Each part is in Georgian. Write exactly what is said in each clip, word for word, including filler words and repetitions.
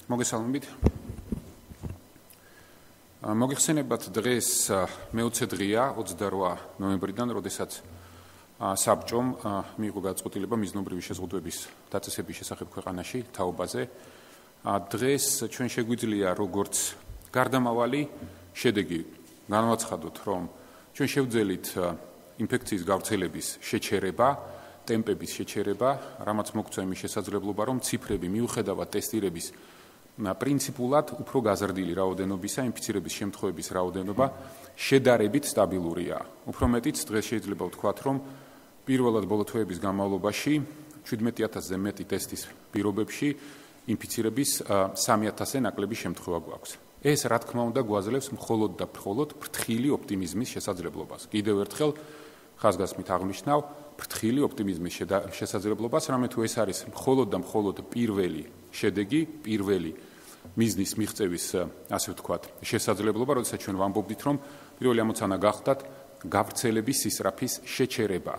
მოგესალმებით. მოგიხსენებათ დღეს მეოცე დღეა ოცდაორ ნოემბრიდან, როდესაც საბჭომ მიიღო გადაწყვეტილება მიზნობრივი შეზღუდვების დაწესების შესახებ ქვეყანაში თაობაზე. დღეს ჩვენ შეგვიძლია როგორც გარდამავალი შედეგი განვაცხადოთ, რომ ჩვენ შევძელით ინფექციის გავრცელების შეჩერება, ტემპების შეჩერება, რამაც მოგწვა იმის შესაძლებლობა, რომ ციფრები მიუხედავად ტესტირების პრინციპულად უფრო გაზრდილი რაოდენობისა, ინფიცირების შემთხვევების რაოდენობა შედარებით სტაბილურია. უფრო მეტიც დღეს შეიძლება ვთქვათ, რომ პირველად ბოლო თვეების განმავლობაში შვიდმეტი ათასზე მეტი ტესტის პირობებში ინფიცირების სამი ათასზე ნაკლები შემთხვევა გვაქვს. ეს რა თქმა უნდა გვაძლევს მხოლოდ და მხოლოდ ფრთხილი ოპტიმიზმის შესაძლებლობას. კიდევ ერთხელ ხაზგასმით აღნიშნავ ფრთხილი ოპტიმიზმის შესაძლებლობას, რამე თუ ეს არის მხოლოდ და მხოლოდ პირველი შედეგი, პირველი მიზნის მიღწევის, ასე ვთქვათ, შესაძლებლობა, როდესაც ჩვენ ვამბობდით, რომ პირველი ამოცანა გახდათ გავრცელების სისწრაფის შეჩერება,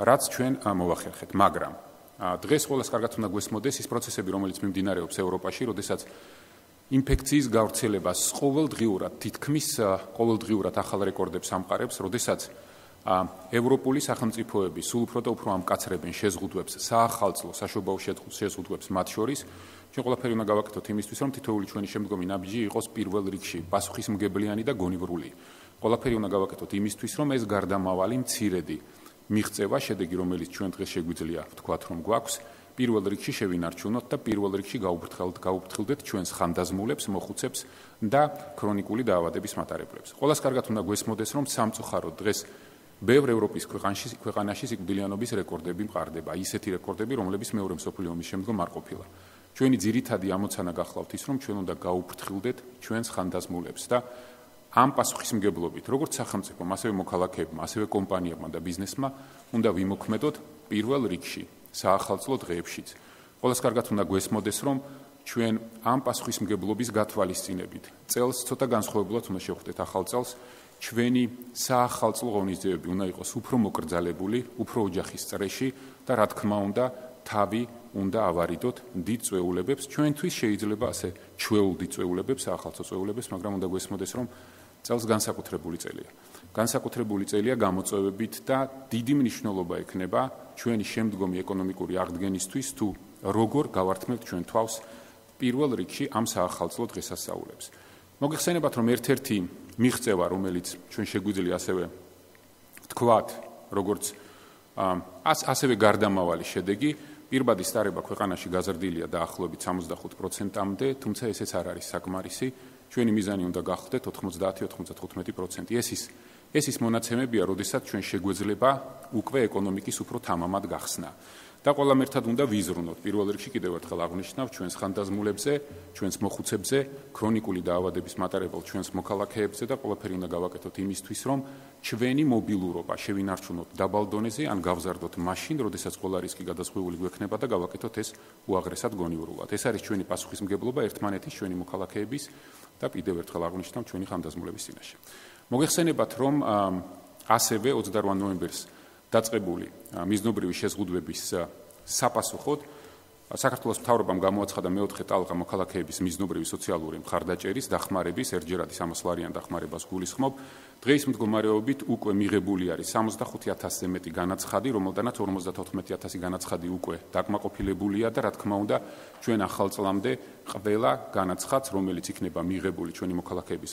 რაც ჩვენ მოვახერხეთ, მაგრამ დღეს ყველას კარგად უნდა გვესმოდეს ის პროცესები, რომელიც მიმდინარეობს ევროპაში, როდესაც ინფექციის გავრცელებას ყოველდღიურად, თითქმის ყოველდღიურად ახალ რეკორდებს ამყარებს, როდესაც ევროპული სახელმწიფოები სულ უფრო და უფრო ამკაცრებენ შეზღუდვებს, საახალწლო საშობაო შეზღუდვებს მათ შორის. ჩვენ ყველაფერი უნდა გავაკეთოთ იმისთვის, რომ თითოეული ჩვენი შემდგომი ნაბიჯი იყოს პირველ რიგში პასუხისმგებლიანი და გონივრული. ყველაფერი უნდა გავაკეთოთ იმისთვის, რომ ეს გარდამავალი მცირედი მიღწევა, შედეგი, რომელიც ჩვენ დღეს შეგვიძლია ვთქვათ, რომ გვაქვს, პირველ რიგში შევინარჩუნოთ და პირველ რიგში გაუფრთხილდეთ ჩვენს ხანდაზმულებს, მოხუცებს და ქრონიკული დაავადების მატარებლებს. ყველას კარგად უნდა გვესმოდეს, რომ სამწუხაროდ დღეს ბევრ ევროპის ქვეყანაში, ქვეყანაში სიკვდილიანობის რეკორდები მყარდება, ისეთი რეკორდები, რომლებიც მეორე მსოფლიო ომის შემდგომ არ ყოფილა. ჩვენი ძირითადი ამოცანა გახლავთ ის, რომ ჩვენ უნდა გაუფრთხილდეთ ჩვენს ხანდაზმულებს და ამ პასუხისმგებლობით, როგორც სახელმწიფომ, ასევე მოქალაქეებმა, ასევე კომპანიებმა და ბიზნესმა უნდა ვიმოქმედოთ პირველ რიგში, საახალწლო დღეებშიც. ყველას კარგად უნდა გვესმოდეს, რომ ჩვენ ამ პასუხისმგებლობის გათვალისწინებით წელს ცოტა განსხვავებულად უნდა შევხვდეთ ახალ წელს. ჩვენი საახალწლო ღონისძიებები უნდა იყოს უფრო მოკრძალებული, უფრო ოჯახის წრეში და რა თქმა უნდა, თავი უნდა ავარიდოთ დიდ წვეულებებს. ჩვენთვის შეიძლება ასე ჩვეულ დიდ წვეულებებს, საახალწლო წვეულებებს, მაგრამ უნდა გვესმოდეს, რომ წელს განსაკუთრებული წელია. განსაკუთრებული წელია გამოწვევებით და დიდი მნიშვნელობა ექნება ჩვენი შემდგომი ეკონომიკური აღდგენისთვის, თუ როგორ გავართმევთ ჩვენ თავს პირველ რიგში ამ საახალწლო დღესასწაულებს. მოგიხსენებათ, რომ ერთ-ერთი მიღწევა, რომელიც ჩვენ შეგვიძლია ასევე ვთქვათ, როგორც ასევე გარდამავალი შედეგი, პირბადი სტარება ქვეყანაში გაზრდილია დაახლოებით სამოცდახუთ პროცენტამდე, თუმცა ესეც არ არის საკმარისი. ჩვენი მიზანი უნდა გახდეთ ოთხმოცდაათი ოცდათხუთმეტი პროცენტი. ეს ის ეს ის მონაცემებია, როდესაც ჩვენ შეგვეძლება უკვე ეკონომიკის უფრო თამამად გახსნა. და ყველამ ერთად უნდა ვიზრუნოთ. პირველ რიგში კიდევ ერთხელ აღნიშნავ ჩვენს ხანდაზმულებზე, ჩვენს მოხუცებზე, ქრონიკული დაავადების მატარებელ ჩვენს მოქალაქეებზე და ყველაფერი უნდა გავაკეთოთ იმისთვის, რომ ჩვენი მობილურობა შევინარჩუნოთ დაბალ დონეზე, ან გავზარდოთ მაშინ, როდესაც ყველა რისკი გადაზღვეული გვექნება და გავაკეთოთ ეს უაღრესად გონივრულად. ეს არის ჩვენი პასუხისმგებლობა ერთმანეთის, ჩვენი მოქალაქეების და კიდევ ერთხელ აღნიშნავ ჩვენი ხანდაზმულების წინაშე. მოგეხსენებათ, რომ ასევე ოცდაორ ნოემბერს დაწყებული მიზნობრივი შეზღუდვების საპასუხოდ საქართველოს მთავრობამ გამოაცხადა მეოთხე ტალღა მოქალაქეების მიზნობრივი სოციალური მხარდაჭერის დახმარების ერთჯერადი სამას ლარიან დახმარებას გულისხმობ. დღეის მდგომარეობით უკვე მიღებული არის სამოცდახუთი ათასზე მეტი განაცხადი, რომელთანაც ორმოცდათოთხმეტი ათასი განაცხადი უკვე დაკმაყოფილებულია და რა თქმა უნდა, ჩვენ ახალ წლამდე ყველა განაცხადს, რომელიც იქნება მიღებული ჩვენი მოქალაქეების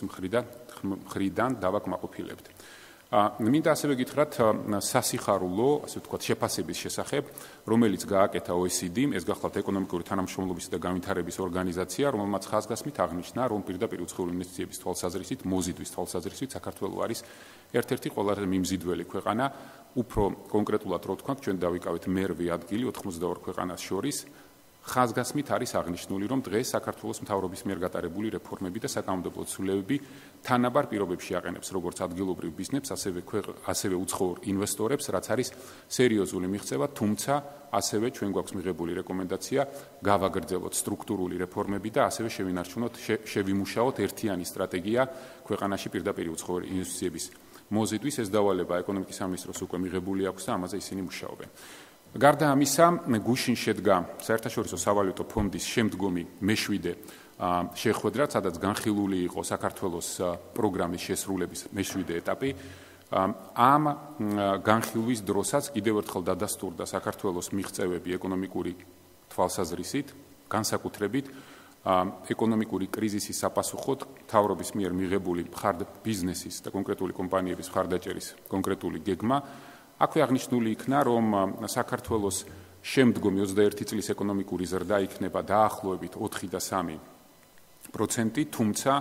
მხრიდან დავაკმაყოფილებთ. მინდა ასევე გითხრათ სასიხარულო, ასე ვთქვათ, შეფასების შესახებ, რომელიც გააკეთა ო ე სი დი, ეს გახლავთ ეკონომიკური თანამშრომლობის და განვითარების ორგანიზაცია, რომელმაც ხაზგასმით აღნიშნა, რომ პირდაპირ უცხოური ინვესტიციების თვალსაზრისით, მოზიდვის თვალსაზრისით, საქართველო არის ერთ-ერთი ყველაზე მიმზიდველი ქვეყანა, უფრო კონკრეტულად რო ვთქვათ, ჩვენ დავიკავეთ მერვე ადგილი ოთხმოცდაორ ქვეყანას შორის. ხაზგასმით არის აღნიშნული, რომ დღეს საქართველოს მთავრობის მიერ გატარებული რეფორმები და საკანონმდებლო ცვლილებები თანაბარ პირობებში აყენებს როგორც ადგილობრივ ბიზნესს, ასევე ასევე უცხოურ ინვესტორებს, რაც არის სერიოზული მიღწევა, თუმცა ასევე ჩვენ გვაქვს მიღებული რეკომენდაცია გავაგრძელოთ სტრუქტურული რეფორმები და ასევე შევინარჩუნოთ, შევიმუშაოთ ერთიანი სტრატეგია ქვეყანაში პირდაპირ უცხოური ინვესტიციების მოზიდვის. ეს დავალება ეკონომიკის სამინისტროს უკვე მიღებული აქვს და ამაზე ისინი მუშაობენ. გარდა ამისა, გუშინ შედგა საერთაშორისო სავალუტო ფონდის შემდგომი მეშვიდე შეხვედრა, სადაც განხილული იყო საქართველოს პროგრამის შესრულების მეშვიდე ეტაპი. ამ განხილვის დროსაც კიდევ ერთხელ დადასტურდა საქართველოს მიღწევები ეკონომიკური თვალსაზრისით, განსაკუთრებით ეკონომიკური კრიზისის საპასუხოდ მთავრობის მიერ მიღებული ბიზნესის და კონკრეტული კომპანიების მხარდაჭერის კონკრეტული გეგმა. აქვე აღნიშნული იქნა, რომ საქართველოს შემდგომი ოცდაერთი წლის ეკონომიკური ზრდა იქნება დაახლოებით ოთხი და სამი პროცენტი, თუმცა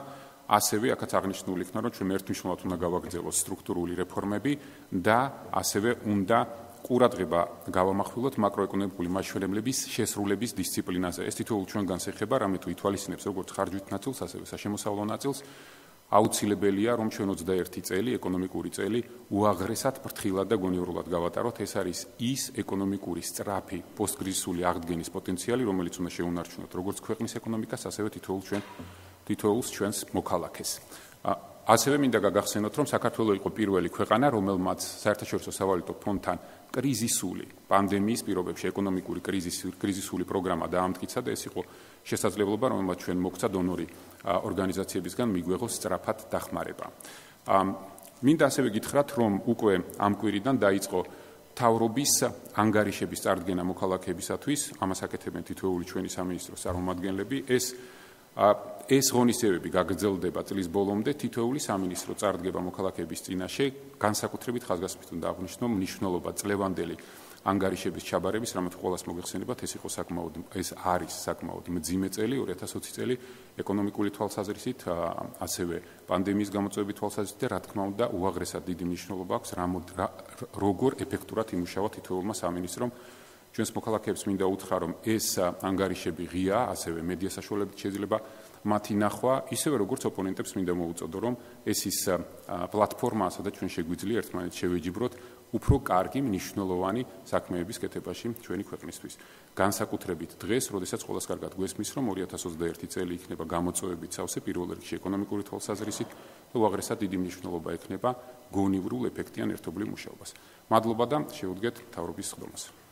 ასევე აქაც აღნიშნული იქნა, რომ ჩვენ ერთმნიშვნელად უნდა გავაგრძელოთ სტრუქტურული რეფორმები და ასევე უნდა ყურადღება გავამახვილოთ მაკროეკონომიკური მაჩვენებლების შესრულების დისციპლინაზე. ეს თითოეულ ჩვენგანს ეხება, რამე თუ ითვალისწინებს როგორც ხარჯვით ნაწილს, ასევე საშემოსავლო ნაწილს. აუცილებელია, რომ ჩვენ ოცდაერთი წელი, ეკონომიკური წელი, უაღრესად ფრთხილად და გონივრულად გავატაროთ. ეს არის ის ეკონომიკური სწრაფი პოსტკრიზისული აღდგენის პოტენციალი, რომელიც უნდა შეუნარჩუნოთ როგორც ქვეყნის ეკონომიკას, ასევე თითოეულ ჩვენ თითოეულს ჩვენს მოქალაქეს. ასევე მინდა გაგახსენოთ, რომ საქართველოს იყო პირველი ქვეყანა, რომელმაც საერთაშორისო სავალუტო ფონდთან კრიზისული პანდემიის პირობებში ეკონომიკური კრიზისული პროგრამა დაამტკიცა და ეს იყო შესაძლებლობა, რომელმაც ჩვენ მოგცა დონორი ორგანიზაციებისგან მიგვეღოს სწრაფად დახმარება. მინდა ასევე გითხრათ, რომ უკვე ამ კვირიდან დაიწყო მთავრობის ანგარიშების წარდგენა მოქალაქეებისათვის, ამას აკეთებენ თითოეული ჩვენი სამინისტროს წარმომადგენლები. ეს ეს ღონისძიებები გაგრძელდება წლის ბოლომდე, თითოეული სამინისტრო წარდგება მოქალაქეების წინაშე, განსაკუთრებით ხაზგასმით უნდა აღვნიშნო მნიშვნელობა წლევანდელი ანგარიშების ჩაბარების, რამაც ყველას მოგეხსენებათ, ეს იყო საკმაოდ ეს არის საკმაოდ მძიმე წელი, ორი ათას ოცი წელი ეკონომიკური თვალსაზრისით, ასევე პანდემიის გამოწვევების თვალსაზრისით და რა თქმა უნდა, უაღრესად დიდი მნიშვნელობა აქვს როგორ ეფექტურად იმუშავა თითოეულმა სამინისტრომ. ჩვენს მოქალაქეებს მინდა უთხრა, რომ ეს ანგარიშები ღია, ასევე მედია საშუალებით შეიძლება მათი ნახვა, ისევე როგორც ოპონენტებს მინდა მოუწოდო, რომ ეს ის პლატფორმაა, სადაც ჩვენ შეგვიძლია ერთმანეთს შევეჯიბროთ უფრო კარგი, მნიშვნელოვანი საქმეების კეთებაში ჩვენი ქვეყნისთვის. განსაკუთრებით დღეს, როდესაც ყველას კარგად გვესმის, რომ ორი ათას ოცდაერთი წელი იქნება გამოწვევებით სავსე, პირველ რიგში ეკონომიკური თვალსაზრისით და უაღრესად დიდი მნიშვნელობა ექნება გონივრულ ეფექტიან ერთობლივ მუშაობას. მადლობა და შევუდგეთ მთავრობის სხდომას.